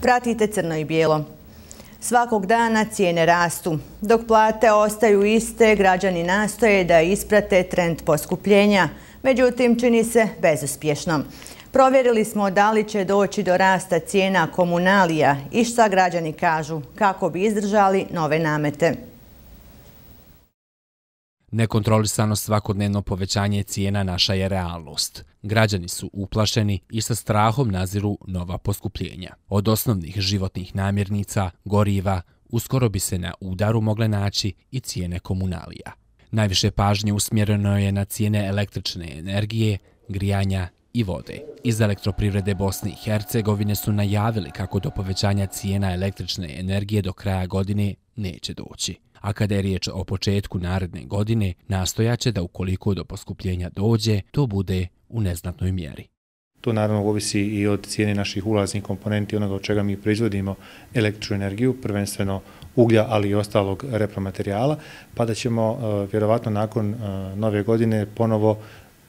Pratite Crno i bijelo. Svakog dana cijene rastu. Dok plate ostaju iste, građani nastoje da isprate trend poskupljenja. Međutim, čini se bezuspješno. Provjerili smo da li će doći do rasta cijena komunalija i šta građani kažu kako bi izdržali nove namete. Nekontrolisano svakodnevno povećanje cijena naša je realnost. Građani su uplašeni i sa strahom naziru nova poskupljenja. Od osnovnih životnih namirnica, goriva, uskoro bi se na udaru mogle naći i cijene komunalija. Najviše pažnje usmjereno je na cijene električne energije, grijanja i vode. Iz Elektroprivrede Bosne i Hercegovine su najavili kako do povećanja cijena električne energije do kraja godine neće doći. A kada je riječ o početku naredne godine, nastojaće da ukoliko do poskupljenja dođe, to bude u neznatnoj mjeri. To naravno ovisi i od cijene naših ulaznih komponenti, onoga od čega mi proizvodimo električnu energiju, prvenstveno uglja, ali i ostalog repromaterijala, pa da ćemo vjerovatno nakon nove godine ponovo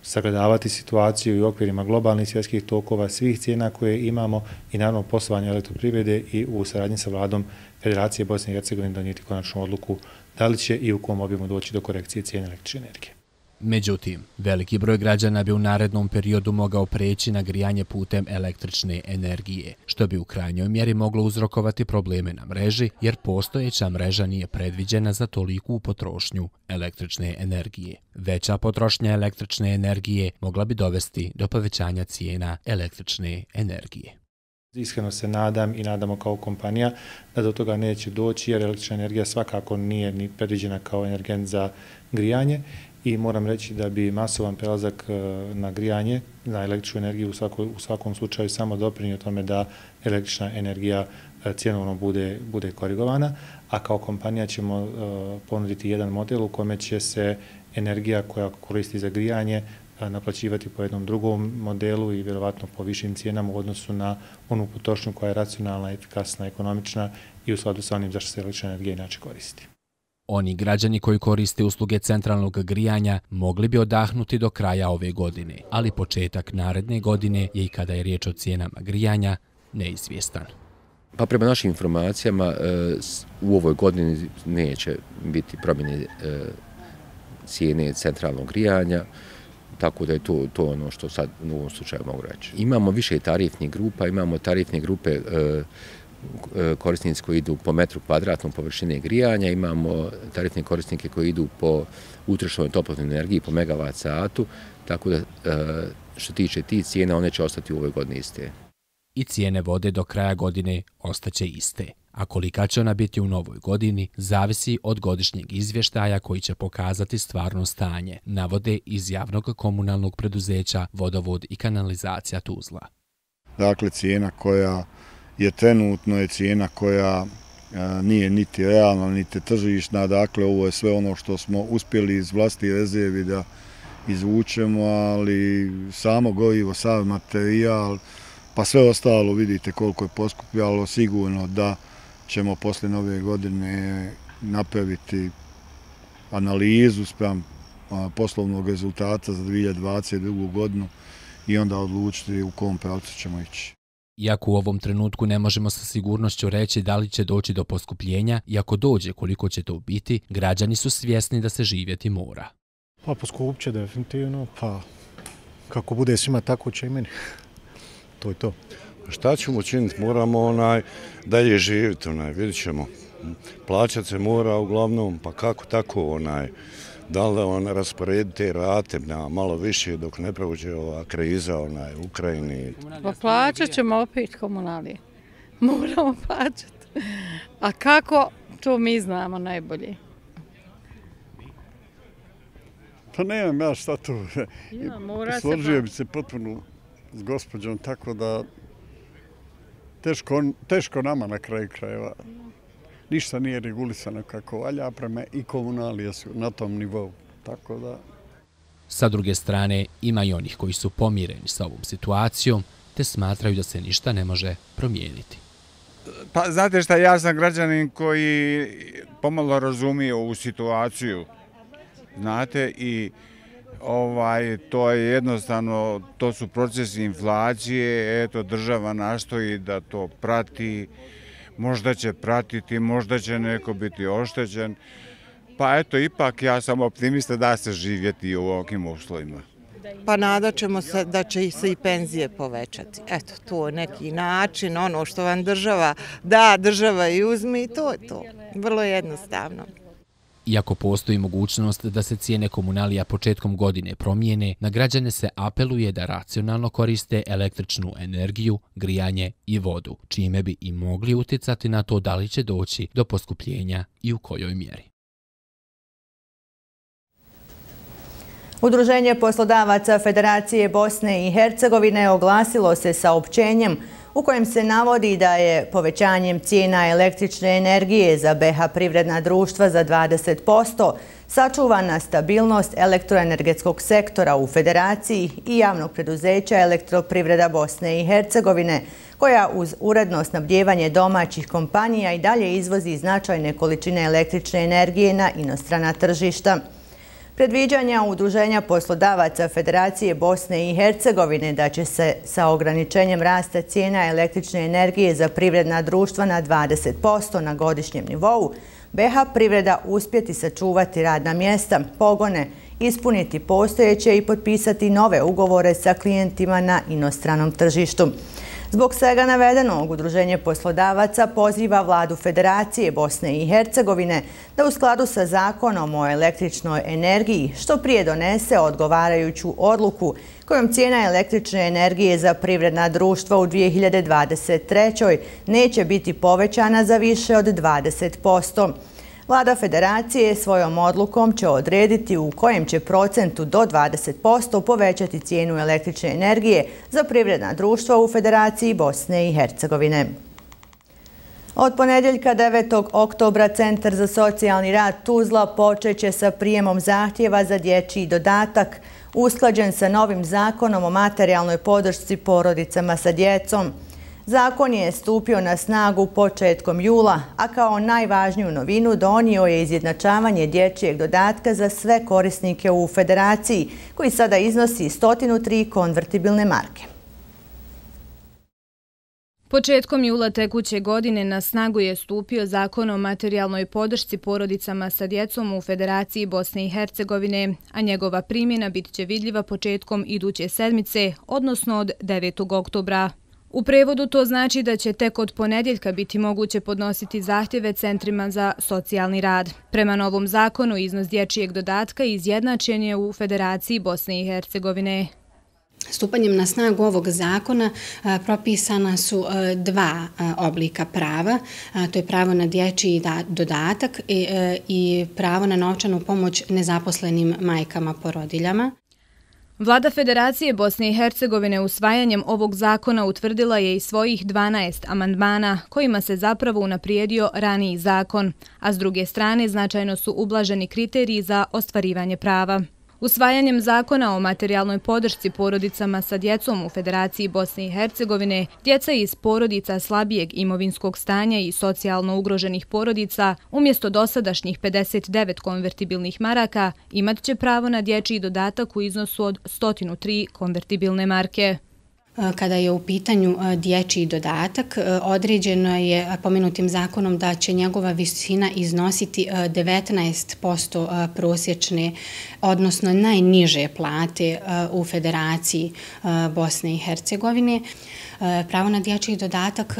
sagledavati situaciju i u okvirima globalnih svjetskih tokova, svih cijena koje imamo i naravno poslovanje Elektroprivrede i u saradnji sa vladom Federacije Bosne i Hercegovine donijeti konačnu odluku da li će i u kom obimu doći do korekcije cijene električne energije. Međutim, veliki broj građana bi u narednom periodu mogao preći na grijanje putem električne energije, što bi u krajnjoj mjeri moglo uzrokovati probleme na mreži, jer postojeća mreža nije predviđena za toliku potrošnju električne energije. Veća potrošnja električne energije mogla bi dovesti do povećanja cijena električne energije. Iskreno se nadam i nadamo kao kompanija da do toga neće doći, jer električna energija svakako nije ni predviđena kao energent za grijanje. I moram reći da bi masovan prelazak na grijanje, na električnu energiju u svakom slučaju samo doprinio tome da električna energija cjenovno bude korigovana, a kao kompanija ćemo ponuditi jedan model u kome će se energija koja koristi za grijanje naplaćivati po jednom drugom modelu i vjerovatno po višim cijenama u odnosu na onu potrošnju koja je racionalna, efikasna, ekonomična i u skladu sa onim zašto se električna energija inače koristi. Oni građani koji koriste usluge centralnog grijanja mogli bi odahnuti do kraja ove godine, ali početak naredne godine je i kada je riječ o cijenama grijanja neizvjestan. Pa prema našim informacijama u ovoj godini neće biti promjene cijene centralnog grijanja, tako da je to ono što sad u ovom slučaju mogu reći. Imamo više tarifnih grupa, imamo tarifne grupe korisnici koji idu po metru kvadratnom površine grijanja, imamo tarifne korisnike koji idu po utrošenoj toplotnoj energiji po megavat satu, tako da što tiče tih cijena, one će ostati u ovoj godini iste. I cijene vode do kraja godine ostaće iste, a kolika će ona biti u novoj godini zavisi od godišnjeg izvještaja koji će pokazati stvarno stanje, navode iz javnog komunalnog preduzeća Vodovod i kanalizacija Tuzla. Dakle, cijena koja je trenutno je cijena koja nije niti realna, niti tržišna. Dakle, ovo je sve ono što smo uspjeli iz vlastitih rezervi da izvučemo, ali samo gorivo, sav materijal, pa sve ostalo vidite koliko je poskupljalo. Sigurno da ćemo posle nove godine napraviti analizu spram poslovnog rezultata za 2022. godinu i onda odlučiti u kom pravcu ćemo ići. Iako u ovom trenutku ne možemo sa sigurnošću reći da li će doći do poskupljenja i ako dođe koliko će to biti, građani su svjesni da se živjeti mora. Pa poskup će definitivno, pa kako bude svima tako će i meni. To je to. Šta ćemo učiniti? Moramo dalje živjeti, vidjet ćemo. Plaćat se mora uglavnom, pa kako tako, da li rasporediti te rate na malo više dok ne prođe ova kriza u Ukrajini. Pa plaćat ćemo opet komunalije. Moramo plaćati. A kako, to mi znamo najbolje. Pa nemam ja šta tu. Složio bi se potpuno s gospođom, tako da teško nama na kraju krajeva. Ništa nije regulisano kako valja, prema i komunalije su na tom nivou. Tako da... Sa druge strane, ima i onih koji su pomireni sa ovom situacijom, te smatraju da se ništa ne može promijeniti. Pa znate šta, ja sam građanin koji pomalo razumije ovu situaciju. Znate, i To je jednostavno, to su procesi inflacije, eto država nastoji da to prati, možda će pratiti, možda će neko biti oštećen, pa eto ipak ja sam optimista da se živjeti u ovakvim uslovima. Pa nadat ćemo se da će se i penzije povećati. Eto, to je neki način, ono što vam država da, država i uzme i to je to. Vrlo jednostavno. Iako postoji mogućnost da se cijene komunalija početkom godine promijene, na građane se apeluje da racionalno koriste električnu energiju, grijanje i vodu, čime bi i mogli utjecati na to da li će doći do poskupljenja i u kojoj mjeri. Udruženje poslodavaca Federacije Bosne i Hercegovine oglasilo se saopćenjem u kojem se navodi da je povećanjem cijena električne energije za BiH privredna društva za 20% sačuvana stabilnost elektroenergetskog sektora u Federaciji i javnog preduzeća Elektroprivreda Bosne i Hercegovine, koja uz uredno snabdijevanje domaćih kompanija i dalje izvozi značajne količine električne energije na inostrana tržišta. Predviđanja Udruženja poslodavaca Federacije Bosne i Hercegovine da će se sa ograničenjem rasta cijena električne energije za privredna društva na 20% na godišnjem nivou, BiH privreda uspjeti sačuvati radna mjesta, pogone, ispuniti postojeće i potpisati nove ugovore sa klijentima na inostranom tržištu. Zbog svega navedenog, Udruženje poslodavaca poziva vladu Federacije Bosne i Hercegovine da u skladu sa zakonom o električnoj energiji što prije donese odgovarajuću odluku kojom cijena električne energije za privredna društva u 2023. neće biti povećana za više od 20%. Vlada Federacije svojom odlukom će odrediti u kojem će procentu do 20% povećati cijenu električne energije za privredna društva u Federaciji Bosne i Hercegovine. Od ponedjeljka 9. oktobra Centar za socijalni rad Tuzla počeće sa prijemom zahtjeva za dječji dodatak, usklađen sa novim zakonom o materijalnoj podršci porodicama sa djecom. Zakon je stupio na snagu početkom jula, a kao najvažniju novinu donio je izjednačavanje dječjeg dodatka za sve korisnike u Federaciji, koji sada iznosi 103 konvertibilne marke. Početkom jula tekuće godine na snagu je stupio Zakon o materijalnoj podršci porodicama sa djecom u Federaciji Bosne i Hercegovine, a njegova primjena bit će vidljiva početkom iduće sedmice, odnosno od 9. oktobra. U prevodu to znači da će tek od ponedjeljka biti moguće podnositi zahtjeve centrima za socijalni rad. Prema novom zakonu, iznos dječjeg dodatka izjednačen je u Federaciji Bosne i Hercegovine. Stupanjem na snagu ovog zakona propisana su dva oblika prava. To je pravo na dječji dodatak i pravo na novčanu pomoć nezaposlenim majkama porodiljama. Vlada Federacije Bosne i Hercegovine usvajanjem ovog zakona utvrdila je i svojih 12 amandmana kojima se zapravo unaprijedio raniji zakon, a s druge strane značajno su ublaženi kriteriji za ostvarivanje prava. Usvajanjem zakona o materijalnoj podršci porodicama sa djecom u Federaciji Bosne i Hercegovine, djeca iz porodica slabijeg imovinskog stanja i socijalno ugroženih porodica, umjesto dosadašnjih 59 konvertibilnih maraka, imat će pravo na dječji dodatak u iznosu od 103 konvertibilne marke. Kada je u pitanju dječji dodatak, određeno je pomenutim zakonom da će njegova visina iznositi 19% prosječne, odnosno najniže plate u Federaciji Bosne i Hercegovine. Pravo na dječji dodatak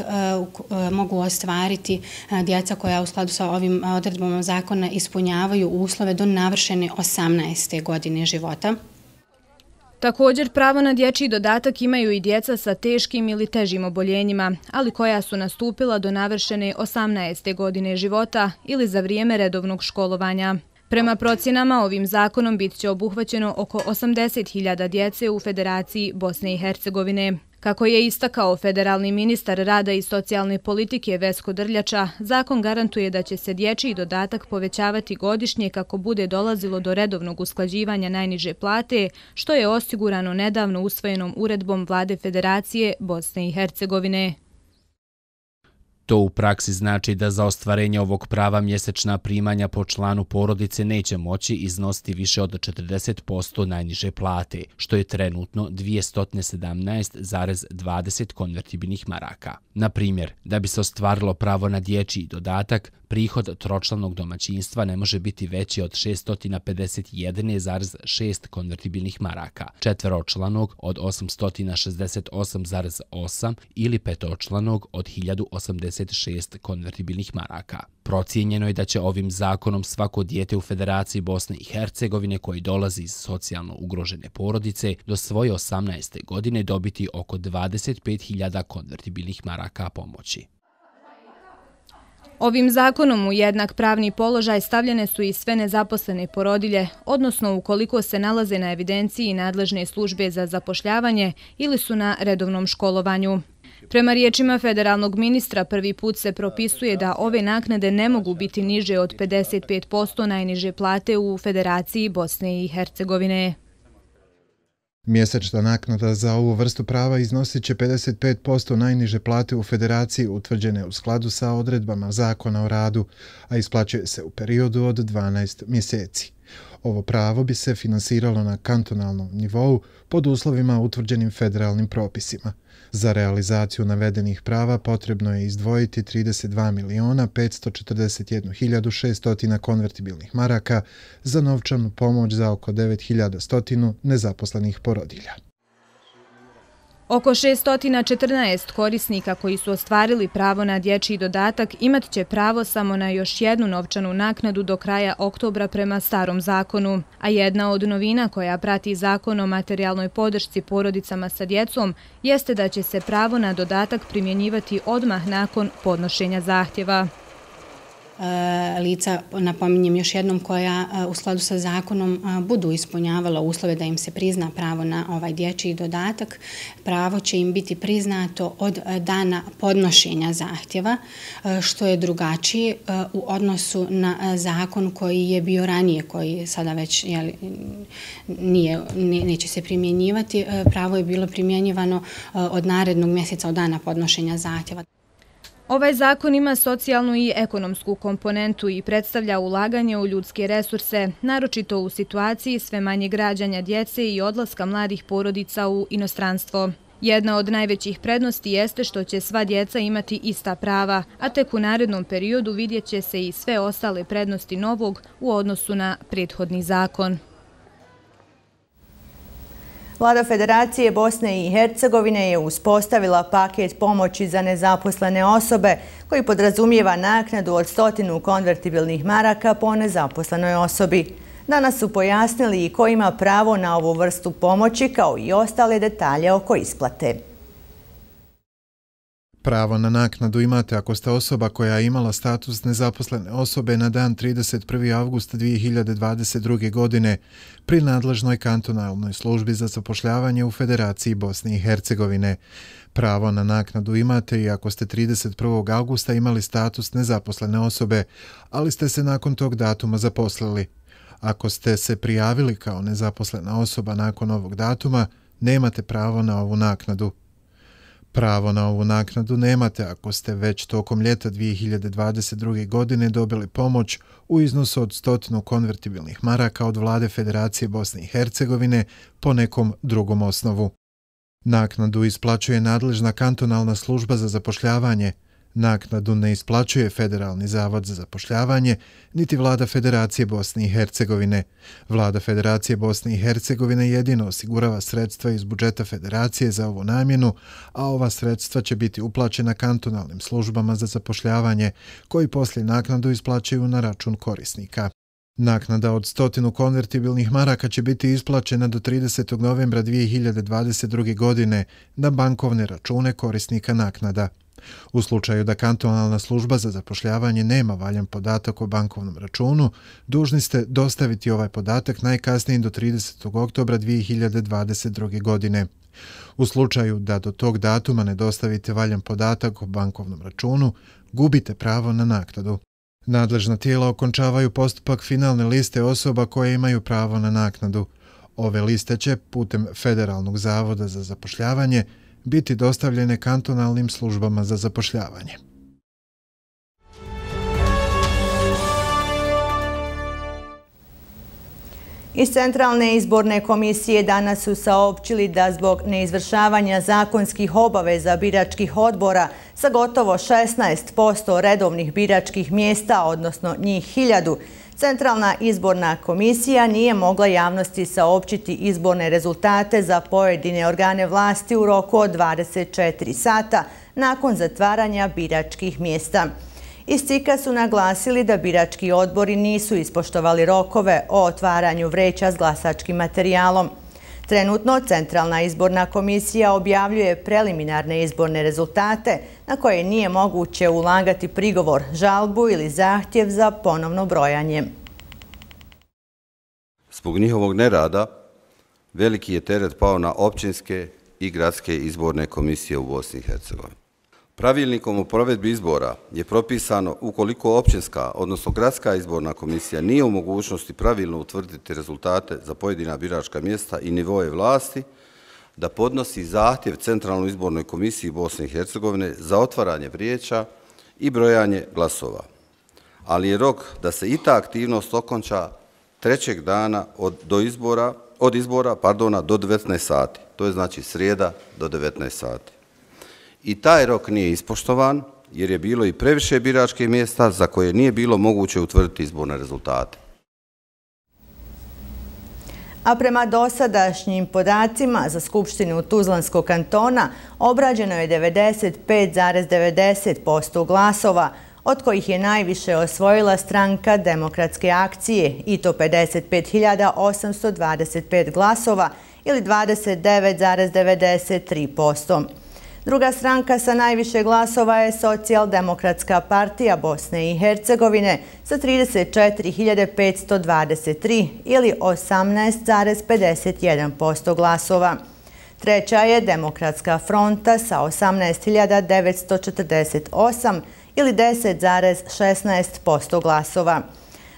mogu ostvariti djeca koja u skladu sa ovim odredbama zakona ispunjavaju uslove do navršene 18. godine života. Također, pravo na dječji dodatak imaju i djeca sa teškim ili težim oboljenjima, ali koja su nastupila do navršene 18. godine života ili za vrijeme redovnog školovanja. Prema procjenama, ovim zakonom bit će obuhvaćeno oko 80.000 djece u Federaciji Bosne i Hercegovine. Kako je istakao federalni ministar rada i socijalne politike Vesko Drljača, zakon garantuje da će se dječji dodatak povećavati godišnje kako bude dolazilo do redovnog usklađivanja najniže plate, što je osigurano nedavno usvojenom uredbom Vlade Federacije Bosne i Hercegovine. To u praksi znači da za ostvarenje ovog prava mjesečna primanja po članu porodice neće moći iznositi više od 40% najniže plate, što je trenutno 217,20 konvertibilnih maraka. Na primjer, da bi se ostvarilo pravo na dječji dodatak, prihod tročlanog domaćinstva ne može biti veći od 651,6 konvertibilnih maraka, četveročlanog od 868,8 ili petočlanog od 1086 konvertibilnih maraka. Procijenjeno je da će ovim zakonom svako dijete u Federaciji Bosne i Hercegovine koji dolazi iz socijalno ugrožene porodice do svoje 18. godine dobiti oko 25.000 konvertibilnih maraka pomoći. Ovim zakonom u jednak pravni položaj stavljene su i sve nezaposlene porodilje, odnosno ukoliko se nalaze na evidenciji nadležne službe za zapošljavanje ili su na redovnom školovanju. Prema riječima federalnog ministra, prvi put se propisuje da ove naknade ne mogu biti niže od 55% najniže plate u Federaciji Bosne i Hercegovine. Mjesečna naknada za ovu vrstu prava iznosit će 55% najniže plate u Federaciji utvrđene u skladu sa odredbama Zakona o radu, a isplaćuje se u periodu od 12 mjeseci. Ovo pravo bi se finansiralo na kantonalnom nivou pod uslovima utvrđenim federalnim propisima. Za realizaciju navedenih prava potrebno je izdvojiti 32.541.600 konvertibilnih maraka za novčanu pomoć za oko 9.100 nezaposlenih porodilja. Oko 614 korisnika koji su ostvarili pravo na dječji dodatak imat će pravo samo na još jednu novčanu naknadu do kraja oktobra prema starom zakonu, a jedna od novina koja prati zakon o materijalnoj podršci porodicama sa djecom jeste da će se pravo na dodatak primjenjivati odmah nakon podnošenja zahtjeva. Lica, napominjem još jednom, koja u skladu sa zakonom budu ispunjavala uslove da im se prizna pravo na ovaj dječji dodatak, pravo će im biti priznato od dana podnošenja zahtjeva, što je drugačije u odnosu na zakon koji je bio ranije, koji sada već neće se primjenjivati. Pravo je bilo primjenjivano od narednog mjeseca od dana podnošenja zahtjeva. Ovaj zakon ima socijalnu i ekonomsku komponentu i predstavlja ulaganje u ljudske resurse, naročito u situaciji sve manje rađanja djece i odlaska mladih porodica u inostranstvo. Jedna od najvećih prednosti jeste što će sva djeca imati ista prava, a tek u narednom periodu vidjet će se i sve ostale prednosti novog u odnosu na prethodni zakon. Vlada Federacije Bosne i Hercegovine je uspostavila paket pomoći za nezaposlene osobe koji podrazumijeva naknadu od 100 konvertibilnih maraka po nezaposlenoj osobi. Danas su pojasnili i ko ima pravo na ovu vrstu pomoći, kao i ostale detalje oko isplate. Pravo na naknadu imate ako ste osoba koja je imala status nezaposlene osobe na dan 31. avgusta 2022. godine pri nadležnoj kantonalnoj službi za zapošljavanje u Federaciji Bosne i Hercegovine. Pravo na naknadu imate i ako ste 31. augusta imali status nezaposlene osobe, ali ste se nakon tog datuma zaposlili. Ako ste se prijavili kao nezaposlena osoba nakon ovog datuma, nemate pravo na ovu naknadu. Pravo na ovu naknadu nemate ako ste već tokom ljeta 2022. godine dobili pomoć u iznosu od 100 konvertibilnih maraka od Vlade Federacije Bosne i Hercegovine po nekom drugom osnovu. Naknadu isplaćuje nadležna kantonalna služba za zapošljavanje. Naknadu ne isplaćuje Federalni zavod za zapošljavanje, niti Vlada Federacije Bosne i Hercegovine. Vlada Federacije Bosne i Hercegovine jedino osigurava sredstva iz budžeta Federacije za ovu namjenu, a ova sredstva će biti uplaćena kantonalnim službama za zapošljavanje, koji poslije naknadu isplaćaju na račun korisnika. Naknada od 100 konvertibilnih maraka će biti isplaćena do 30. novembra 2022. godine na bankovne račune korisnika naknada. U slučaju da kantonalna služba za zapošljavanje nema valjan podatak o bankovnom računu, dužni ste dostaviti ovaj podatak najkasnije do 30. oktobra 2022. godine. U slučaju da do tog datuma ne dostavite valjan podatak o bankovnom računu, gubite pravo na naknadu. Nadležna tijela okončavaju postupak finalne liste osoba koje imaju pravo na naknadu. Ove liste će, putem Federalnog zavoda za zapošljavanje, biti dostavljene kantonalnim službama za zapošljavanje. Iz Centralne izborne komisije danas su saopćili da zbog neizvršavanja zakonskih obaveza biračkih odbora sa gotovo 16% redovnih biračkih mjesta, odnosno njih 1000, Centralna izborna komisija nije mogla javnosti saopćiti izborne rezultate za pojedine organe vlasti u roku od 24 sata nakon zatvaranja biračkih mjesta. Iz CIK-a su naglasili da birački odbori nisu ispoštovali rokove o otvaranju vreća s glasačkim materijalom. Trenutno Centralna izborna komisija objavljuje preliminarne izborne rezultate na koje nije moguće ulagati prigovor, žalbu ili zahtjev za ponovno brojanje. Zbog njihovog nerada veliki je teret pao na općinske i gradske izborne komisije u Bosni i Hercegovini. Pravilnikom o provedbi izbora je propisano ukoliko općinska, odnosno gradska izborna komisija nije u mogućnosti pravilno utvrditi rezultate za pojedina biračka mjesta i nivoje vlasti, da podnosi zahtjev Centralnoj izbornoj komisiji Bosne i Hercegovine za otvaranje vrijeća i brojanje glasova. Ali je rok da se i ta aktivnost okonča 3. dana od izbora do 19 sati. To je znači srijeda do 19 sati. I taj rok nije ispoštovan jer je bilo i previše biračkih mjesta za koje nije bilo moguće utvrditi izborne rezultate. A prema dosadašnjim podacima za Skupštinu Tuzlanskog kantona obrađeno je 95,90% glasova, od kojih je najviše osvojila stranka Demokratske akcije i to 55.825 glasova ili 29,93%. Druga stranka sa najviše glasova je Socijaldemokratska partija Bosne i Hercegovine sa 34.523 ili 18,51% glasova. Treća je Demokratska fronta sa 18.948 ili 10,16% glasova.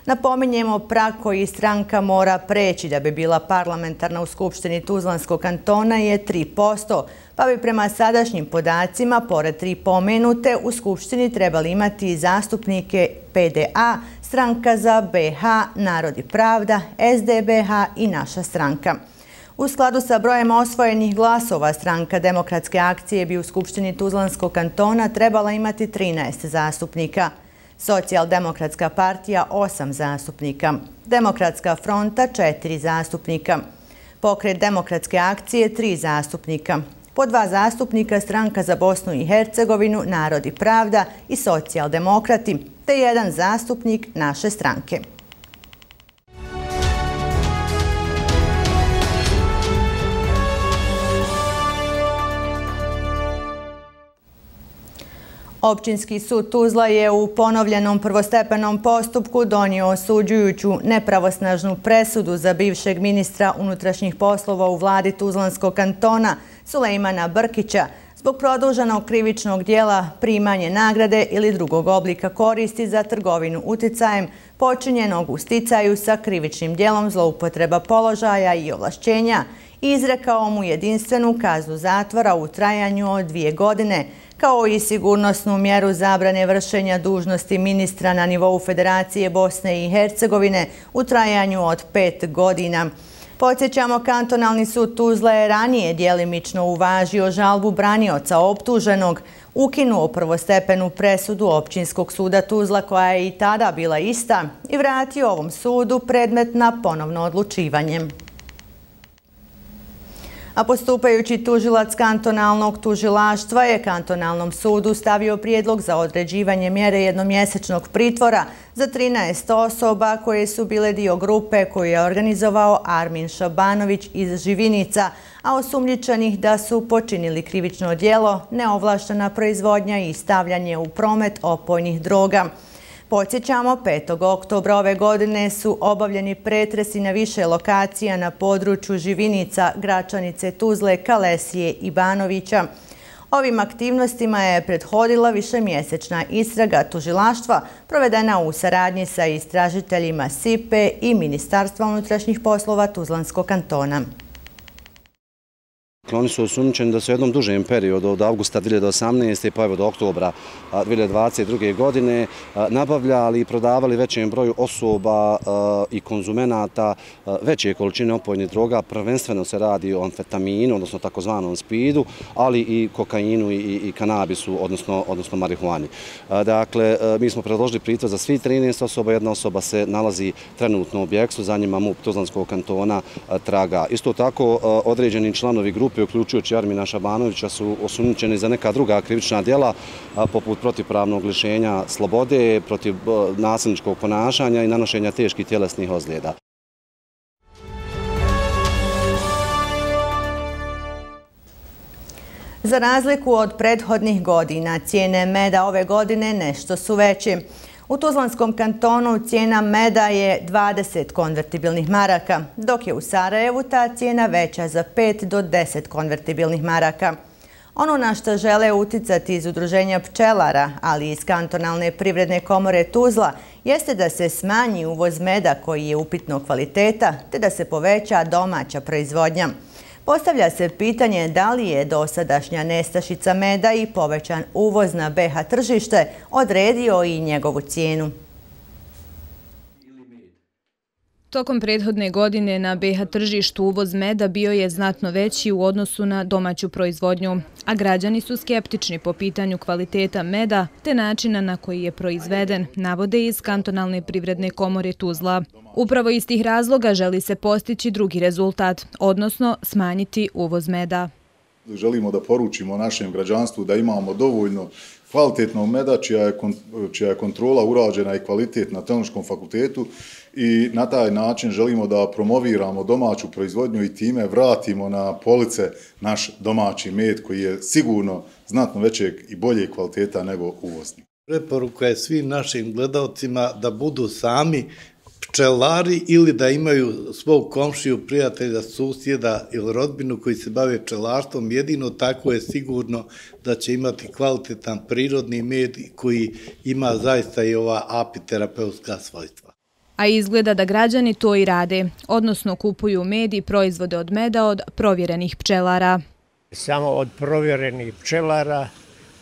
Napominjemo, prag koji stranka mora preći da bi bila parlamentarna u Skupštini Tuzlanskog kantona je 3%, pa bi prema sadašnjim podacima, pored 3 pomenute, u Skupštini trebali imati zastupnike PDA, Stranka za BH, Narod i pravda, SDBH i Naša stranka. U skladu sa brojem osvojenih glasova, stranka Demokratske akcije bi u Skupštini Tuzlanskog kantona trebala imati 13 zastupnika. Socijaldemokratska partija 8 zastupnika, Demokratska fronta 4 zastupnika, Pokret Demokratske akcije 3 zastupnika, po 2 zastupnika Stranka za Bosnu i Hercegovinu, Narod i pravda i Socijaldemokrati, te 1 zastupnik Naše stranke. Općinski sud Tuzla je u ponovljenom prvostepenom postupku donio osuđujuću nepravosnažnu presudu za bivšeg ministra unutrašnjih poslova u vladi Tuzlanskog kantona Sulejmana Brkića zbog produženog krivičnog dijela primanje nagrade ili drugog oblika koristi za trgovinu uticajem počinjenog u sticaju sa krivičnim dijelom zloupotreba položaja i ovlašćenja i izrekao mu jedinstvenu kaznu zatvora u trajanju od 2 godine, kao i sigurnosnu mjeru zabrane vršenja dužnosti ministra na nivou Federacije Bosne i Hercegovine u trajanju od 5 godina. Podsjećamo, Kantonalni sud Tuzla je ranije djelimično uvažio žalbu branioca optuženog, ukinuo prvostepenu presudu Općinskog suda Tuzla, koja je i tada bila ista, i vratio ovom sudu predmet na ponovno odlučivanje. A postupajući tužilac kantonalnog tužilaštva je Kantonalnom sudu stavio prijedlog za određivanje mjere jednomjesečnog pritvora za 13 osoba koje su bile dio grupe koju je organizovao Armin Šabanović iz Živinica, a osumnjičenih da su počinili krivično djelo, neovlaštena proizvodnja i stavljanje u promet opojnih droga. Podsjećamo, 5. oktobra ove godine su obavljeni pretresi na više lokacija na području Živinica, Gračanice, Tuzle, Kalesije i Banovića. Ovim aktivnostima je prethodila višemjesečna istraga tužilaštva provedena u saradnji sa istražiteljima SIPE i Ministarstva unutrašnjih poslova Tuzlanskog kantona. Dakle, oni su osumnjičeni da su u jednom dužem periodu od avgusta 2018. pa evo do oktobra 2022. godine nabavljali i prodavali većem broju osoba i konzumenata veće količine opojnih droga. Prvenstveno se radi o amfetaminu, odnosno takozvanom spidu, ali i kokainu i kanabisu, odnosno marihuani. Dakle, mi smo predložili pritvor za svi 13 osoba, jedna osoba se nalazi trenutno u objektu, za njima MUP Tuzlanskog kantona traga. Isto tako, određeni članovi grupe, uključujući Armina Šabanovića, su osumnjičeni za neka druga krivična djela, poput protivpravnog lišenja slobode, protiv nasilničkog ponašanja i nanošenja teških tjelesnih ozljeda. Za razliku od prethodnih godina, cijene meda ove godine nešto su veće. U Tuzlanskom kantonu cijena meda je 20 konvertibilnih maraka, dok je u Sarajevu ta cijena veća za 5 do 10 konvertibilnih maraka. Ono na što žele uticati iz Udruženja pčelara, ali i iz Kantonalne privredne komore Tuzla, jeste da se smanji uvoz meda koji je upitnog kvaliteta, te da se poveća domaća proizvodnja. Postavlja se pitanje da li je dosadašnja nestašica meda i povećan uvoz na BiH tržište odredio i njegovu cijenu. Tokom prethodne godine na BiH tržištu uvoz meda bio je znatno veći u odnosu na domaću proizvodnju, a građani su skeptični po pitanju kvaliteta meda te načina na koji je proizveden, navode iz Kantonalne privredne komore Tuzla. Upravo iz tih razloga želi se postići drugi rezultat, odnosno smanjiti uvoz meda. Želimo da poručimo našem građanstvu da imamo dovoljno kvalitetnog meda čija je kontrola urađena i kvalitet na Tehnološkom fakultetu i na taj način želimo da promoviramo domaću proizvodnju i time vratimo na police naš domaći med koji je sigurno znatno većeg i bolje kvaliteta nego uvozni. Preporuka je svim našim gledalcima da budu sami pčelari ili da imaju svog komšiju, prijatelja, susjeda ili rodbinu koji se bave pčelarstvom. Jedino tako je sigurno da će imati kvalitetan prirodni med koji ima zaista i ova apiterapeutska svojstva. A izgleda da građani to i rade, odnosno kupuju med i proizvode od meda od provjerenih pčelara. Samo od provjerenih pčelara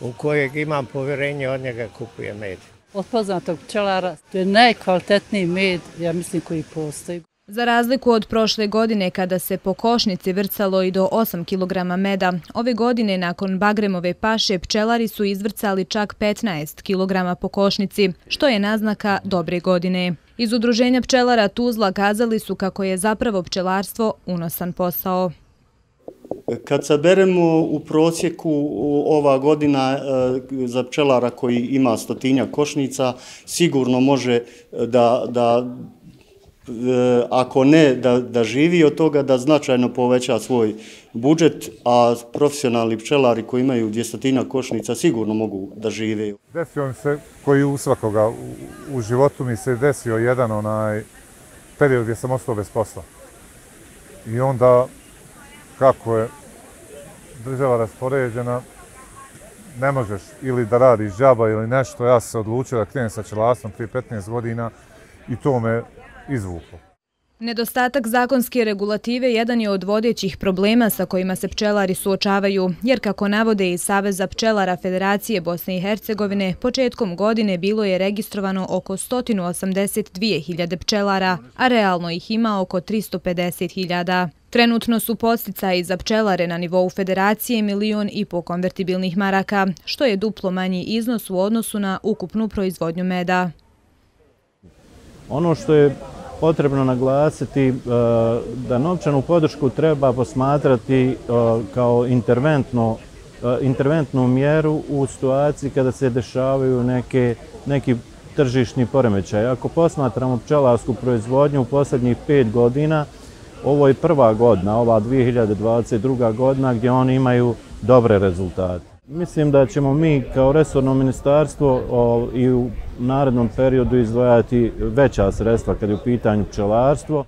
u kojeg imam povjerenje, od njega kupuje med. Od poznatog pčelara, to je najkvalitetniji med, ja mislim, koji postoji. Za razliku od prošle godine kada se po košnici vrcalo i do 8 kg meda, ove godine nakon Bagremove paše pčelari su izvrcali čak 15 kg po košnici, što je naznaka dobre godine. Iz Udruženja pčelara Tuzla kazali su kako je zapravo pčelarstvo unosan posao. Kad saberemo u prosjeku ova godina za pčelara koji ima 100 košnica, sigurno može da ako ne da živi od toga, da značajno poveća svoj budžet, a profesionalni pčelari koji imaju 200 košnica sigurno mogu da žive. Desio mi se, koji u svakoga u životu mi se desio jedan period gdje sam ostao bez posla. I onda, kako je država raspoređena, ne možeš ili da radiš džaba ili nešto. Ja sam se odlučio da krenem sa pčelarstvom prije 15 godina i to me izvuklo. Nedostatak zakonske regulative jedan je od vodećih problema sa kojima se pčelari suočavaju, jer kako navode iz Saveza pčelara Federacije Bosne i Hercegovine, početkom godine bilo je registrovano oko 182.000 pčelara, a realno ih ima oko 350.000. Trenutno su podsticaji za pčelare na nivou Federacije 1,5 miliona konvertibilnih maraka, što je duplo manji iznos u odnosu na ukupnu proizvodnju meda. Ono što je potrebno naglasiti da novčanu podršku treba posmatrati kao interventnu mjeru u situaciji kada se dešavaju neki tržišni poremećaj. Ako posmatramo pčelarsku proizvodnju u posljednjih 5 godina, ovo je prva godina, ova 2022. godina gdje oni imaju dobre rezultate. Mislim da ćemo mi kao resorno ministarstvo i u narednom periodu izdvajati veća sredstva kad je u pitanju pčelarstvo.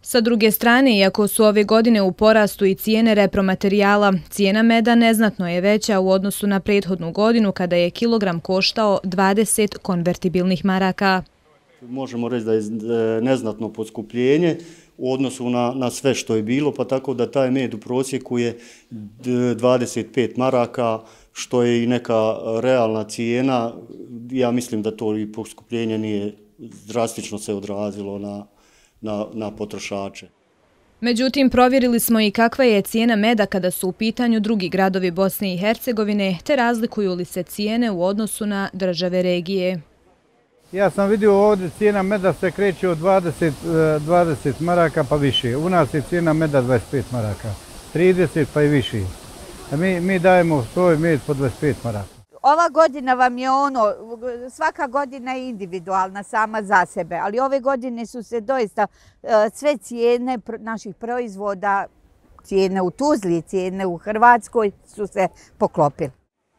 Sa druge strane, iako su ove godine u porastu i cijene repromaterijala, cijena meda neznatno je veća u odnosu na prethodnu godinu kada je kilogram koštao 20 konvertibilnih maraka. Možemo reći da je neznatno poskupljenje u odnosu na sve što je bilo, pa tako da taj med u prosjeku je 25 maraka, što je i neka realna cijena. Ja mislim da to i poskupljenje nije drastično se odrazilo na potrošače. Međutim, provjerili smo i kakva je cijena meda kada su u pitanju drugi gradovi Bosne i Hercegovine, te razlikuju li se cijene u odnosu na države regije. Ja sam vidio ovdje cijena meda se kreće od 20 maraka pa više. U nas je cijena meda 25 maraka, 30 pa i više. Mi dajemo svoj med po 25 maraka. Ova godina vam je svaka godina je individualna sama za sebe, ali ove godine su se doista sve cijene naših proizvoda, cijene u Tuzli, cijene u Hrvatskoj su se poklopile.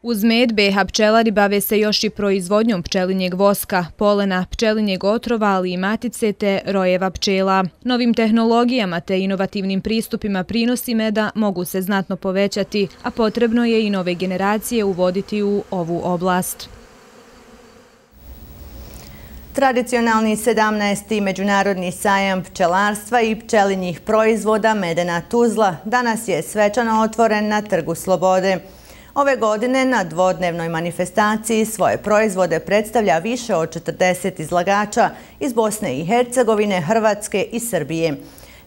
Uz med, BH pčelari bave se još i proizvodnjom pčelinjeg voska, polena, pčelinjeg otrova, ali i matice te rojeva pčela. Novim tehnologijama te inovativnim pristupima prinosi meda mogu se znatno povećati, a potrebno je i nove generacije uvoditi u ovu oblast. Tradicionalni 17. međunarodni sajam pčelarstva i pčelinjih proizvoda Medena Tuzla danas je svečano otvoren na Trgu Slobode. Ove godine na dvodnevnoj manifestaciji svoje proizvode predstavlja više od 40 izlagača iz Bosne i Hercegovine, Hrvatske i Srbije.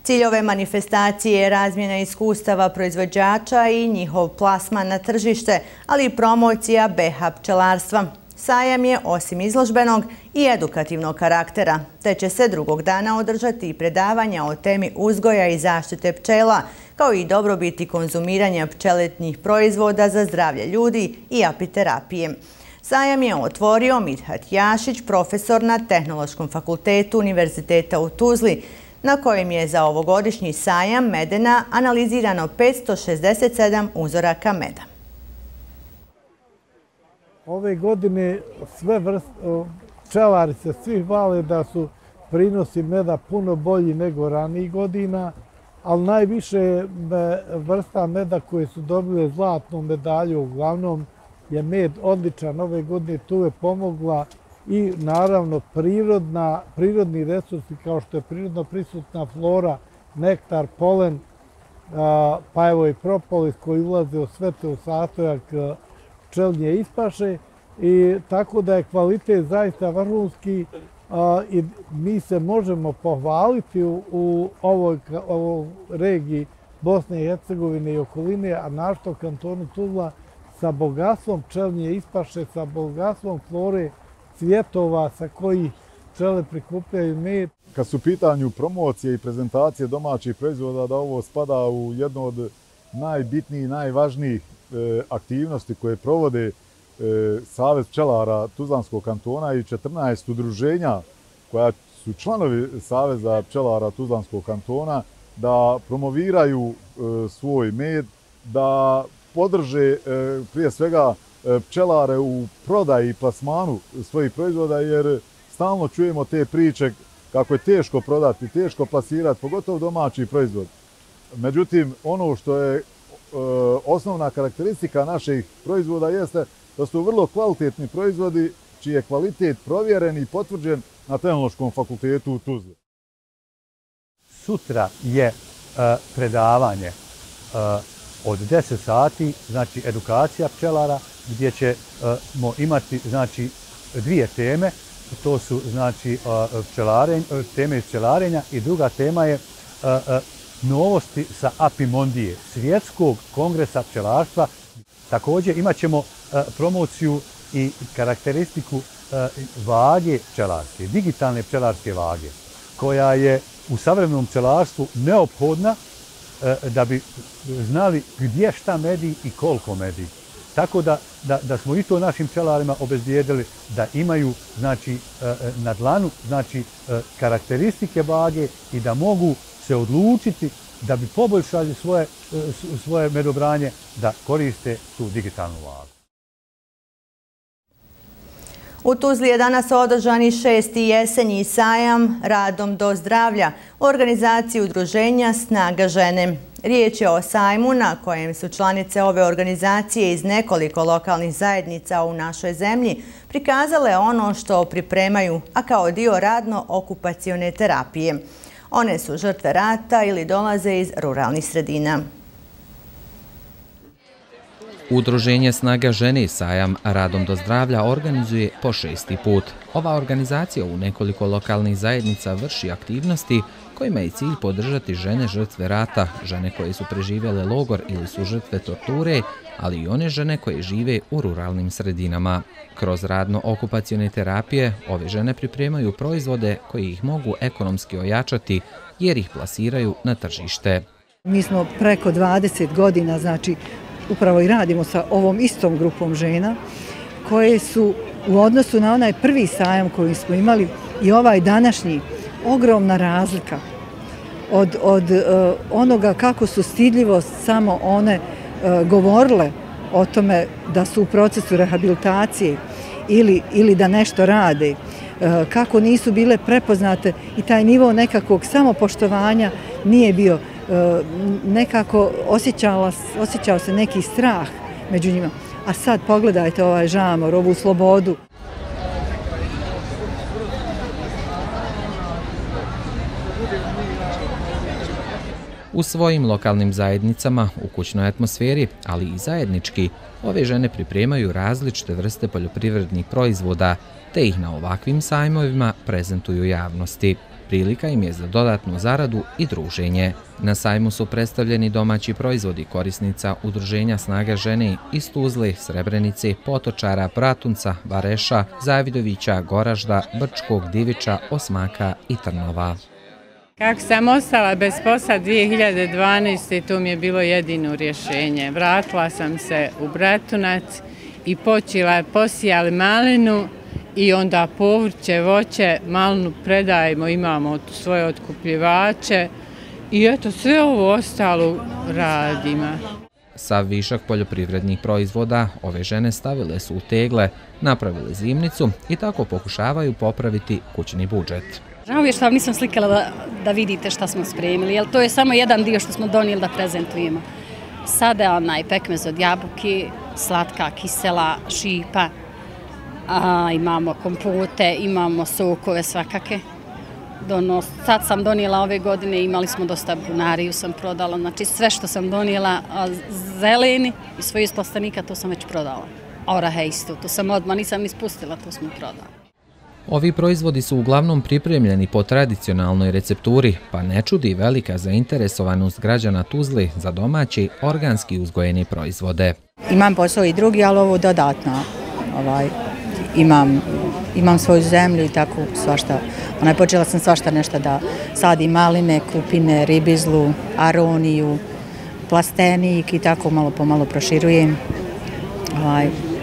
Cilj ove manifestacije je razmjena iskustava proizvođača i njihov plasman na tržište, ali i promocija BH pčelarstva. Sajam je, osim izložbenog, i edukativnog karaktera, te će se drugog dana održati i predavanja o temi uzgoja i zaštite pčela, kao i dobrobiti konzumiranja pčeletnih proizvoda za zdravlje ljudi i apiterapije. Sajam je otvorio Midhat Jašić, profesor na Tehnološkom fakultetu Univerziteta u Tuzli, na kojem je za ovogodišnji sajam medena analizirano 567 uzoraka meda. Ove godine sve pčelari se svi hvale da su prinosi meda puno bolji nego ranijih godina, ali najviše vrsta meda koje su dobile zlatnu medalju, uglavnom je med odličan. Ove godine tu je pomogla i naravno prirodni resursi kao što je prirodno prisutna flora, nektar, polen, pa evo i propolis koji ulaze u sve te u sastojak pčelinje ispaše, i tako da je kvalitet zaista vrhunski i mi se možemo pohvaliti u ovoj regiji Bosne i Hercegovine i okoline, a našto kantonu Tuzla sa bogatstvom pčelinje ispaše, sa bogatstvom flore, cvjetova sa kojih pčele prikupljaju med. Kad su u pitanju promocije i prezentacije domaćih proizvoda, da ovo spada u jednu od najbitnijih i najvažnijih aktivnosti koje provode Savez pčelara Tuzlanskog kantona i 14 udruženja koja su članovi Saveza pčelara Tuzlanskog kantona, da promoviraju svoj med, da podrže prije svega pčelare u prodaji i plasmanu svojih proizvoda, jer stalno čujemo te priče kako je teško prodati, teško plasirati, pogotovo domaći proizvod. Međutim, ono što je osnovna karakteristika naših proizvoda jeste da su vrlo kvalitetni proizvodi čiji je kvalitet provjeren i potvrđen na Tehnološkom fakultetu u Tuzli. Sutra je predavanje od 10 sati, znači edukacija pčelara, gdje ćemo imati znači dvije teme. To su znači teme iz pčelarenja i druga tema je novosti sa Apimondije, Svjetskog kongresa pčelarstva. Također imat ćemo promociju i karakteristiku vage pčelarske, digitalne pčelarske vage, koja je u savremenom pčelarstvu neophodna da bi znali gdje šta medi i koliko medi. Tako da smo i to našim pčelarima obezbijedili da imaju znači, na dlanu znači, karakteristike vage i da mogu se odlučiti da bi poboljšali svoje medobranje, da koriste tu digitalnu vagu. U Tuzli je danas održani 6. jesenji sajam Radom do zdravlja u organizaciji udruženja Snaga žene. Riječ je o sajmu na kojem su članice ove organizacije iz nekoliko lokalnih zajednica u našoj zemlji prikazale ono što pripremaju, a kao dio radno-okupacione terapije. One su žrtve rata ili dolaze iz ruralnih sredina. Udruženje Snaga žene sajam Radom do zdravlja organizuje po 6. put. Ova organizacija u nekoliko lokalnih zajednica vrši aktivnosti kojima je cilj podržati žene žrtve rata, žene koje su preživjele logor ili su žrtve torture, ali i one žene koje žive u ruralnim sredinama. Kroz radno-okupacione terapije ove žene pripremaju proizvode koji ih mogu ekonomski ojačati jer ih plasiraju na tržište. Mi smo preko 20 godina, znači upravo i radimo sa ovom istom grupom žena koje su u odnosu na onaj prvi sajam koji smo imali i ovaj današnji ogromna razlika od onoga kako su stidljivo samo one govorile o tome da su u procesu rehabilitacije ili da nešto rade, kako nisu bile prepoznate i taj nivo nekakvog samopoštovanja nije bio, nekako osjećao se neki strah među njima. A sad pogledajte ovaj žamor, ovu slobodu. U svojim lokalnim zajednicama, u kućnoj atmosferi, ali i zajednički, ove žene pripremaju različite vrste poljoprivrednih proizvoda, te ih na ovakvim sajmovima prezentuju javnosti. Prilika im je za dodatnu zaradu i druženje. Na sajmu su predstavljeni domaći proizvodi korisnica Udruženja Snaga žene iz Tuzle, Srebrenice, Potočara, Bratunca, Vareša, Zavidovića, Goražda, Brčkog, Diviča, Osmaka i Trnova. Kako sam ostala bez posla 2012. to mi je bilo jedino rješenje. Vratila sam se u Bratunac i počela posijali malinu i onda povrće, voće, malinu predajemo, imamo svoje otkupljivače i eto sve ovo ostalo radimo. Sav višak poljoprivrednih proizvoda ove žene stavile su u tegle, napravile zimnicu i tako pokušavaju popraviti kućni budžet. Žao mi je što vam nisam slikala da vidite šta smo spremili, jer to je samo jedan dio što smo donijeli da prezentujemo. Sada pekmez od jabuki, slatka, kisela, šipa, imamo kompote, imamo sokove svakake. Sad sam donijela ove godine, imali smo dosta bunariju sam prodala, znači sve što sam donijela zeleni i svojih plastenika to sam već prodala. Orahe isto, to sam odmah nisam ni spustila, to smo prodala. Ovi proizvodi su uglavnom pripremljeni po tradicionalnoj recepturi, pa ne čudi velika zainteresovanost građana Tuzle za domaći, organski uzgojeni proizvode. Imam posao i drugi, ali ovo dodatno. Imam svoju zemlju i tako svašta. Počela sam svašta nešto da sadim maline, kupine, ribizlu, aroniju, plastenik i tako malo po malo proširujem.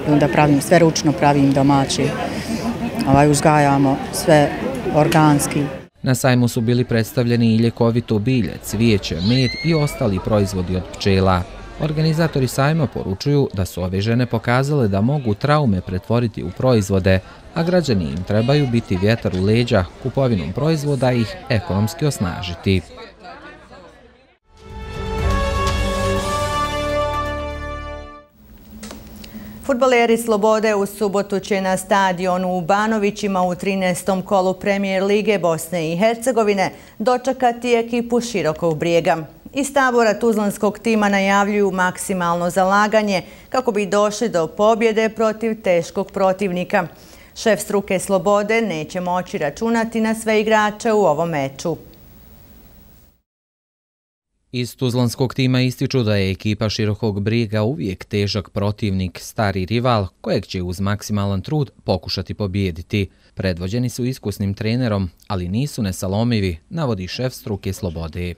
I onda pravim sve ručno, pravim domaći. Uzgajamo sve organski. Na sajmu su bili predstavljeni i ljekovito bilje, cvijeće, med i ostali proizvodi od pčela. Organizatori sajma poručuju da su ove žene pokazale da mogu traume pretvoriti u proizvode, a građani im trebaju biti vjetar u leđa, kupovinom proizvoda ih ekonomski osnažiti. Fudbaleri Slobode u subotu će na stadionu u Banovićima u 13. kolu Premijer Lige Bosne i Hercegovine dočekati ekipu Širokog Brijega. Iz tabora tuzlanskog tima najavljuju maksimalno zalaganje kako bi došli do pobjede protiv teškog protivnika. Šef struke Slobode neće moći računati na sve igrače u ovom meču. Iz tuzlanskog tima ističu da je ekipa Širokog Brijega uvijek težak protivnik, stari rival, kojeg će uz maksimalan trud pokušati pobijediti. Predvođeni su iskusnim trenerom, ali nisu nesalomivi, navodi šef struke Slobode.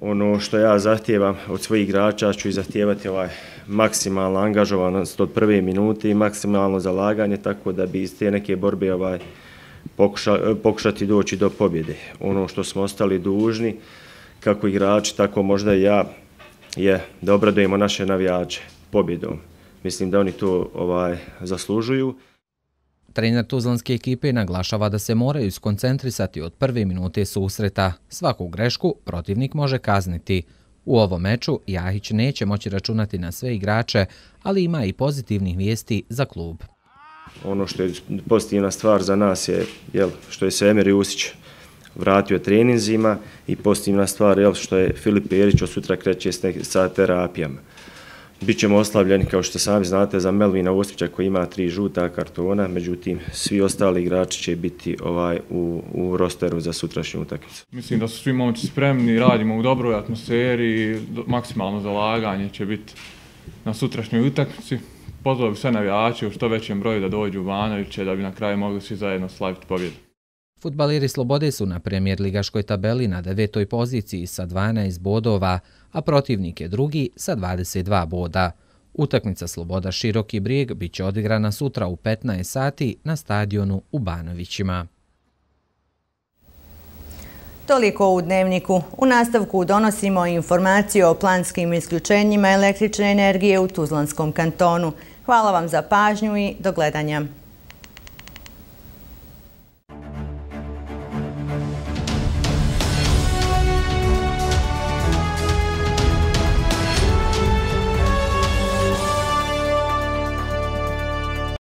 Ono što ja zahtijevam od svojih igrača ću i zahtijevati maksimalno angažovanost od prve minute i maksimalno zalaganje, tako da bi iz te neke borbe pokušati doći do pobjede. Ono što smo ostali dužni, kako igrači, tako možda i ja, je da obradujemo naše navijače pobjedom. Mislim da oni to zaslužuju. Trener tuzlanske ekipe naglašava da se moraju skoncentrisati od prve minute susreta. Svaku grešku protivnik može kazniti. U ovom meču Jahić neće moći računati na sve igrače, ali ima i pozitivnih vijesti za klub. Ono što je pozitivna stvar za nas je što je Semir Jusić vratio treninzima i pozitivna stvar što je Filip Perić od sutra kreće sa terapijama. Bićemo oslavljeni, kao što sami znate, za Melvina Ostića koji ima 3 žuta kartona, međutim svi ostali igrači će biti u rosteru za sutrašnju utakmicu. Mislim da su svi momci spremni, radimo u dobroj atmosferi, maksimalno zalaganje će biti na sutrašnjoj utakmici. Pozvao sve navijače u što većem broju da dođu u Banoviće da bi na kraju mogli svi zajedno slaviti pobjedu. Fudbaleri Slobode su na premijer ligaškoj tabeli na 9. poziciji sa 12 bodova, a protivnik je drugi sa 22 boda. Utakmica Sloboda Široki Brijeg bit će odigrana sutra u 15 sati na stadionu u Banovićima. Toliko u Dnevniku. U nastavku donosimo informaciju o planskim isključenjima električne energije u Tuzlanskom kantonu. Hvala vam za pažnju i do gledanja.